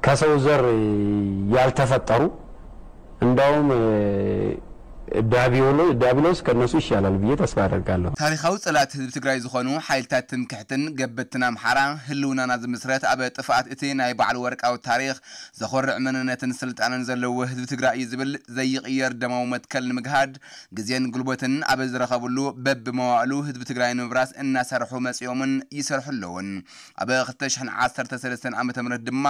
ከሰው ዘር ያልተፈጠሩ፣ እንደውም ዳቢሎስ ከነሱ ይሻላል ብዬ ተስፋ አደርጋለሁ። ታሪካዊ ጸላእቲ ህዝቢ ትግራይ ዝኾኑ ሓይልታት ትምክሕትን ገበትን ኣምሓራ፣ ህልውናና ዝምስረት ኣብ ጥፍኣት እቲ ናይ ባዕሉ ወርቃዊ ታሪኽ፣ ዘኾርዕ መንነትን ስልጣንን ዘለዎ ህዝቢ ትግራይ እዩ ዝብል ዘይቕየር ደማዊ መትከል ንምግሃድ፣ ግዜን ጉልበትን ኣብ ዝረኸብሉ፣ በብመዋእሉ ህዝቢ ትግራይ ንምብራስ እናሰርሑ መጺኦምን ይሰርሑ ኣለውን። ኣብ ክልተ ሽሕን ዓሰርተ ሰለስተን ዓመተ ምህረት ድማ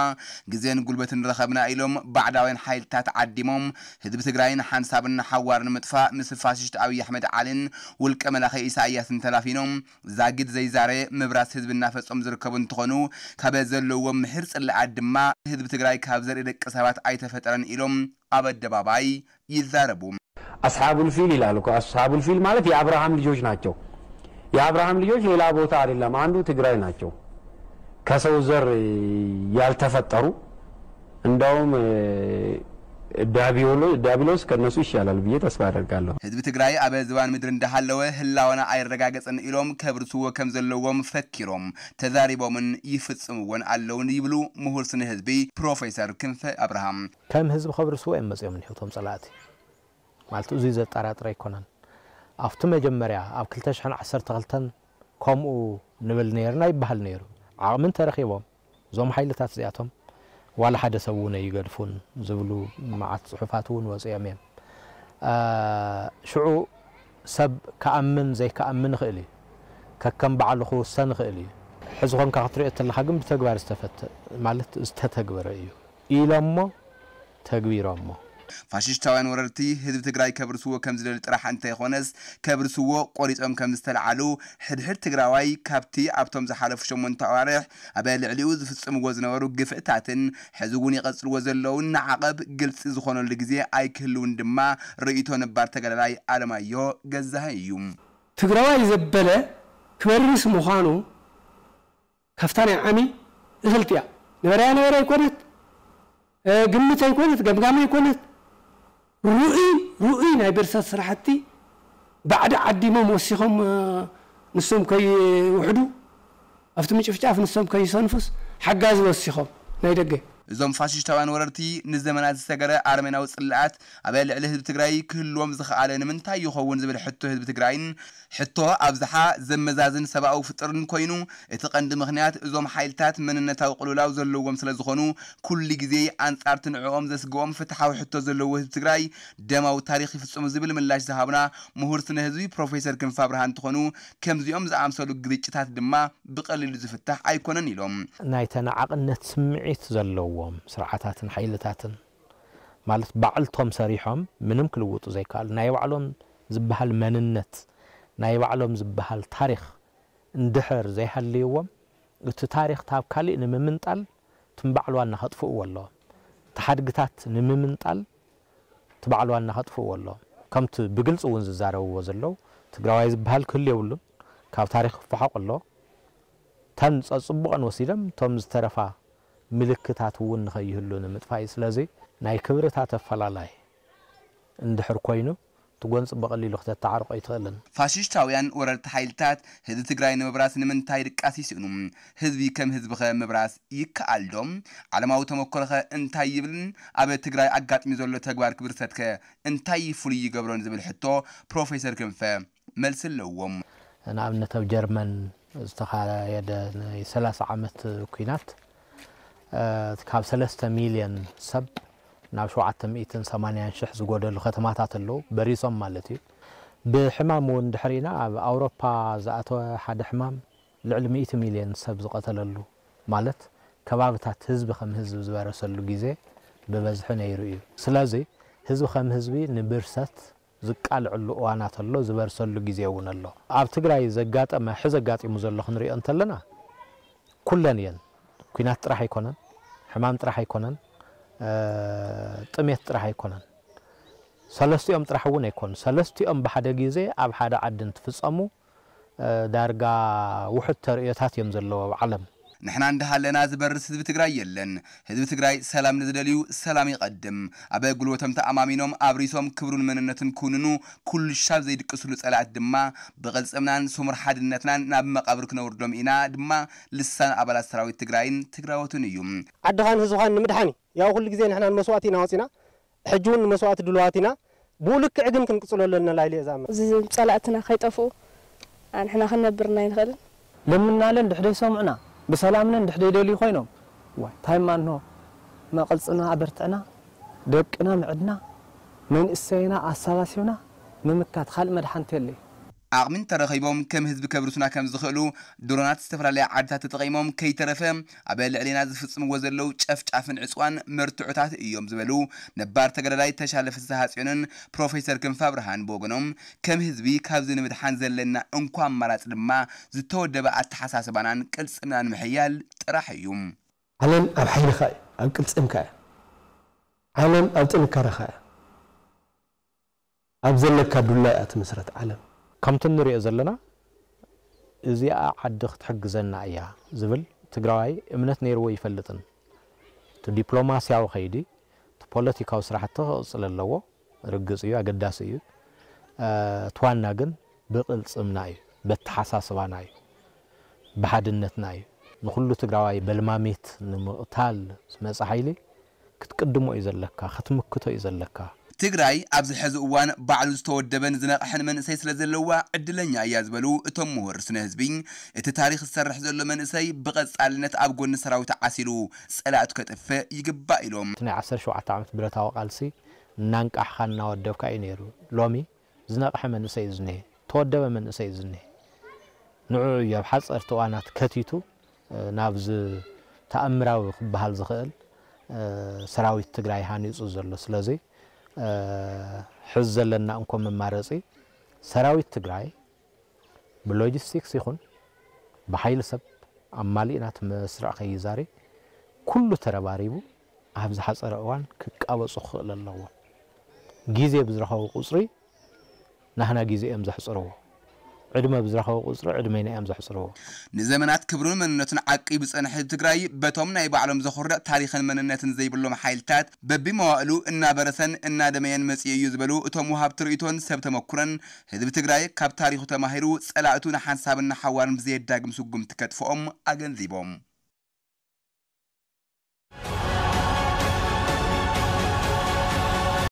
ግዜን ጉልበትን ረኸብና ኢሎም ባዕዳውያን ሓይልታት ዓዲሞም ህዝቢ ትግራይ ንሓንሳብን ንሓዋር ንምጥፋእ ምስ ፋሽስት ኣብይ ኣሕመድ ዓሊን ውልቀ መላኺ ኢሳያስን ተላፊኖም ዛጊድ ዘይዛረ ምብራስ ህዝቢ እናፈጸሙ ዝርከቡ እንትኾኑ፣ ካብ ዘለዎም ምሒር ጽላኣት ድማ ህዝቢ ትግራይ ካብ ዘርኢ ደቂ ሰባት ኣይተፈጠረን ኢሎም ኣብ ኣደባባይ ይዛረቡ። አስሓቡል ፊል ይላል እኮ። አስሓቡል ፊል ማለት የአብርሃም ልጆች ናቸው። የአብርሃም ልጆች ሌላ ቦታ አይደለም፣ አንዱ ትግራይ ናቸው። ከሰው ዘር ያልተፈጠሩ፣ እንደውም ዳቢሎስ ከነሱ ይሻላል ብዬ ተስፋ አደርጋለሁ። ህዝቢ ትግራይ ኣብ ዝባን ምድሪ እንዳሃለወ ህላወና ኣይረጋገጽን ኢሎም ከብርስዎ ከም ዘለዎም ፈኪሮም ተዛሪቦምን ይፍጽምዎን ኣለውን ይብሉ ምሁር ስነ ህዝቢ ፕሮፌሰር ክንፈ ኣብርሃም። ከም ህዝቢ ከብርስዎ እዮም መጺኦም እኒሆ እቶም ጸላእቲ። ማለት እዚ ዘጠራጥር ኣይኮነን። ኣብቲ መጀመርያ ኣብ ክልተ ሽሕን ዓሰርተ ክልተን ከምኡ ንብል ነይርና ይበሃል ነይሩ። ዓቕሚ እንተረኺቦም እዞም ሓይልታት እዚኣቶም ዋላ ሓደ ሰብ እውን ኣይገድፉን ዝብሉ መዓት ጽሑፋት እውን ወፂኦም እዮም። ሽዑ ሰብ ክኣምን ዘይክኣምን ይኽእል እዩ። ከከም ባዕሉ ክውሰን ይኽእል እዩ። ሕዚ ኾንካ ክትሪኦ ተለኻ ግን ብተግባር ዝተፈተ ማለት ዝተተግበረ እዩ ኢሎሞ ተግቢሮሞ። ፋሽስታውያን ወረርቲ ህዝቢ ትግራይ ከብርስዎ ከም ዝደሊ ጥራሕ እንተይኾነስ ከብርስዎ ቆሪጾም ከም ዝተልዓሉ ሕድሕድ ትግራዋይ ካብቲ ኣብቶም ዝሓለፉ ሸሞንተ ኣዋርሕ ኣብ ልዕሊኡ ዝፍጽምዎ ዝነበሩ ግፍዕታትን ሕዚ እውን ይቐጽልዎ ዘለውን ንዓቐብ ግልጺ ዝኾነሉ ግዜ ኣይክህልውን ድማ ርእይቶ ነባር ተጋዳላይ ኣለማዮ ገዛሀ እዩ። ትግራዋይ ዘበለ ክበርስ ምዃኑ ካብታ ናይ ዓሚ እኽልቲ እያ። ነበረያ ነበረ ኣይኮነት፣ ግምት ኣይኮነት፣ ገምጋም ኣይኮነት፣ ርኡይ ርኡይ ናይ ብርሰት ስራሕቲ ባዕዲ ዓዲሞም ወሲኾም ንሶም ከይውሕዱ ኣብቲ ምጭፍጫፍ ንሶም ከይሰንፉስ ሓጋዚ ወሲኾም ናይ ደገ። እዞም ፋሽስታውያን ወረርቲ ንዘመናት ዝሰገረ ኣረሜናዊ ጽልኣት ኣብ ልዕሊ ህዝቢ ትግራይ ክህልዎም ዝኸኣለ ንምንታይ ይኸውን ዝብል ሕቶ ህዝቢ ትግራይን ሕቶ ኣብዝሓ ዘመዛዝን ሰብኣዊ ፍጥርን ኮይኑ እቲ ቀንዲ ምኽንያት እዞም ሓይልታት መንነታዊ ቅልውላው ዘለዎም ስለ ዝኾኑ ኩሉ ግዜ ኣንጻርቲ ንዕኦም ዘስግኦም ፍትሓዊ ሕቶ ዘለዎ ህዝቢ ትግራይ ደማዊ ታሪኽ ይፍጽሙ ዝብል ምላሽ ዝሃቡና ምሁር ስነ ህዝቢ ፕሮፌሰር ክንፈ ኣብርሃ እንትኾኑ ከምዚኦም ዝኣምሰሉ ግርጭታት ድማ ብቐሊሉ ዝፍታሕ ኣይኮነን ኢሎም። ናይ ተነዓቕነት ስምዒት ዘለዎም ስርዓታትን ሓይልታትን ማለት ባዕልቶም ሰሪሖም ምንም ክልውጡ ዘይከኣሉ ናይ ባዕሎም ዝበሃል መንነት ናይ ባዕሎም ዝበሃል ታሪኽ እንድሕር ዘይሃልይዎም እቲ ታሪኽ ታብ ካሊእ ንምምንጣል ትም ባዕል ዋና ከጥፍእዎ ኣለዎም። እቲ ሓድግታት ንምምንጣል እቲ ባዕል ዋና ከጥፍእዎ ኣለዎም። ከምቲ ብግልፂ እውን ዝዛረብዎ ዘለዉ ትግራዋይ ዝበሃል ክህሉ የብሉን። ካብ ታሪኽ ክፈሓቕ ኣሎ። ተን ጸጽቡቐን ወሲደም እቶም ዝተረፋ ምልክታት እውን ንኸይህሉ ንምጥፋእ እዩ። ስለዚ ናይ ክብርታት ኣፈላላይ እንድሕር ኮይኑ እቲ ጎንፂ ብቐሊሉ ክተተዓርቆ ኣይትኽእልን። ፋሽሽታውያን ወረርቲ ሓይልታት ህዝቢ ትግራይ ንምብራስ ንምንታይ ድቃስ ይስእኑ? ህዝቢ ከም ህዝቢ ኸ ምብራስ ይከኣል ዶ? ዓለማዊ ተመክሮ ኸ እንታይ ይብልን ኣብ ትግራይ ኣጋጢሙ ዘሎ ተግባር ክብርሰት ከ እንታይ ፍሉይ ይገብሮን ዝብል ሕቶ ፕሮፌሰር ክንፈ መልሲ ኣለዎም። ንኣብነት ኣብ ጀርመን ዝተኻየደ ናይ ሰላሳ ዓመት ኲናት ካብ ሰለስተ ሚልዮን ሰብ ናብ ሸውዓተ ሚእትን ሰማንያን ሽሕ ዝጎደሉ ከተማታት ኣለዉ በሪሶም ማለት እዩ። ብሕማም እውን ድሕሪና ኣብ ኣውሮፓ ዝኣተወ ሓደ ሕማም ልዕሊ ሚእቲ ሚልዮን ሰብ ዝቐተለሉ ማለት ከባብታት ህዝቢ ከም ህዝቢ ዝበረሰሉ ግዜ ብበዝሒ ነይሩ እዩ። ስለዚ ህዝቢ ከም ህዝቢ ንብርሰት ዝቃልዐሉ እዋናት ኣሎ፣ ዝበርሰሉ ግዜ እውን ኣሎ። ኣብ ትግራይ ዘጋጠመ ሕዚ ኣጋጢሙ ዘሎ ክንሪኦ እንተለና ኩለን እየን። ኲናት ጥራሕ ኣይኮነን፣ ሕማም ጥራሕ ኣይኮነን፣ ጥሜት ጥራሕ ኣይኮነን። ሰለስቲኦም ጥራሕ እውን ኣይኮኑ። ሰለስቲኦም ብሓደ ግዜ ኣብ ሓደ ዓዲ እንትፍፀሙ ዳርጋ ውሑድ ተርእዮታት እዮም ዘለዉ ኣብ ዓለም። ንሕና እንዳሃለና ዝበርስ ህዝቢ ትግራይ የለን። ህዝቢ ትግራይ ሰላም ንዝደልዩ ሰላም ይቐድም። ኣብ ጉልበቶም ተኣማሚኖም ኣብሪሶም ክብሩን መንነቱን ክውንኑ ኩሉ ሻብ ዘይድቅስሉ ጸላእት ድማ ብቕልጽምናን ስሙር ሓድነትናን ናብ መቓብር ክነውርዶም ኢና ድማ ልሳን ኣባላት ሰራዊት ትግራይን ትግራዎትን እዩ። ዓድኻን ህዝብኻን ንምድሓን እዩ። ያው ኩሉ ግዜ ንሕና ንመስዋእቲ ኢና ወፂና፣ ሕጂ እውን ንመስዋእቲ ድልዋት ኢና። ብኡ ልክዕ ግን ክንቅፅሎ ኣለና ላይለ እዛ እምነት። እዚ ጸላእትና ከይጠፍኡ ኣንሕና ክንነብርና ኣይንኽእልን። ለምናለን ድሕደይ ሰምዑና ብሰላምነን ድሕደይ ደልዩ ኮይኖም ዋይ ታይማ እንሆ መቐልፅና ኣበርትዕና ደቅና ምዕድና መንእሰይና ኣሳባሲብና ምምካት ካልእ መድሓንቲ የለይ። ዓቕሚ እንተረኺቦም ከም ህዝቢ ከብርሱና ከም ዝኽእሉ ድሮናት ዝተፈላለያ ዓድታት ተጠቒሞም ከይተረፈ ኣብ ልዕሌና ዝፍጽምዎ ዘለዉ ጨፍጫፍን ዕፅዋን መርትዖታት እዮም ዝበሉ ነባር ተጋዳላይ ተሻለ ፍስሃ ጽዮንን ፕሮፌሰር ክንፈ ኣብርሃን ብወገኖም ከም ህዝቢ ካብዚ ንምድሓን ዘለና እንኳ ኣማራፂ ድማ ዝተወደበ ኣተሓሳስባናን ቅልፅምናን ምሕያል ጥራሕ እዩ። ዓለም ኣብ ሓይልኻ እዩ ኣብ ቅልፅምካ እያ ዓለም ኣብ ጥንካረኻ እያ ኣብ ዘለካ ዱላ እያ ትምስረት ዓለም። ከምቲ ንሪኦ ዘለና እዚኣ ዓዲ ክትሕግዘና እያ ዝብል ትግራዋይ እምነት ነይርዎ ይፈልጥን። እቲ ዲፕሎማስያዊ ከይዲ፣ እቲ ፖለቲካዊ ስራሕቲ ክቕፅል ኣለዎ። ርግፅ እዩ፣ ኣገዳሲ እዩ። እቲ ዋና ግን ብቕልፅምና እዩ፣ በተሓሳስባና እዩ፣ ብሓድነትና እዩ። ንኹሉ ትግራዋይ በልማሚት ንምቕታል ዝመፀ ሓይሊ ክትቅድሞ እዩ ዘለካ፣ ክትምክቶ እዩ ዘለካ። ትግራይ ኣብዚ ሕዚ እዋን ባዕሉ ዝተወደበን ዝነቕሐን መንእሰይ ስለዘለዋ ዕድለኛ እያ ዝበሉ እቶም ምሁር ስነ ህዝቢ፣ እቲ ታሪኽ ዝሰርሕ ዘሎ መንእሰይ ብቐፃልነት ኣብ ጎኒ ሰራዊት ዓሲሉ ፀላእቱ ከጥፍእ ይግባእ ኢሎም። እቲ ናይ ዓሰርተ ሸውዓተ ዓመት ብረታዊ ቃልሲ እናንቃሕኻ እናወደብካ እዩ ነይሩ። ሎሚ ዝነቕሐ መንእሰይ እዩ ዝኒሀ፣ ዝተወደበ መንእሰይ እዩ ዝኒሀ። ንዕኡ እዩ ኣብ ሓፀርቲ እዋናት ከቲቱ ናብዚ ተኣምራዊ ክበሃል ዝኽእል ሰራዊት ትግራይ ሃኒፁ ዘሎ። ስለዚ ሕዚ ዘለና እንኮ መማረፂ ሰራዊት ትግራይ ብሎጂስቲክስ ይኹን ብሓይሊ ሰብ ኣማሊእና እቲ መስርዕ ከይዛሪ ኩሉ ተረባሪቡ ኣብ ዝሓፀረ እዋን ክቃበፁ ክኽእል ኣለዎ። ግዜ ብዝረኸቡ ቁፅሪ ናህና ግዜ እዮም ዘሕፅርዎ። ዕድመ ብዝረኸቡ ቁፅሪ ዕድመና እዮም ዘሕፅርዎ። ንዘመናት ክብሩን መንነቱን ዓቂቡ ዝፀንሐ ህዝቢ ትግራይ በቶም ናይ ባዕሎም ዘኹርዕ ታሪኽን መንነትን ዘይብሎም ሓይልታት በቢመዋእሉ እናበረሰን እናደመየን መፂኡ እዩ ዝበሉ እቶም ወሃብቲ ርእይቶን ሰብ ተመኩረን ህዝቢ ትግራይ ካብ ታሪኹ ተማሂሩ ፀላእቱ ንሓንሳብን ንሓዋርን ብዘየዳግም ስጉምቲ ከጥፍኦም ኣገንዚቦም።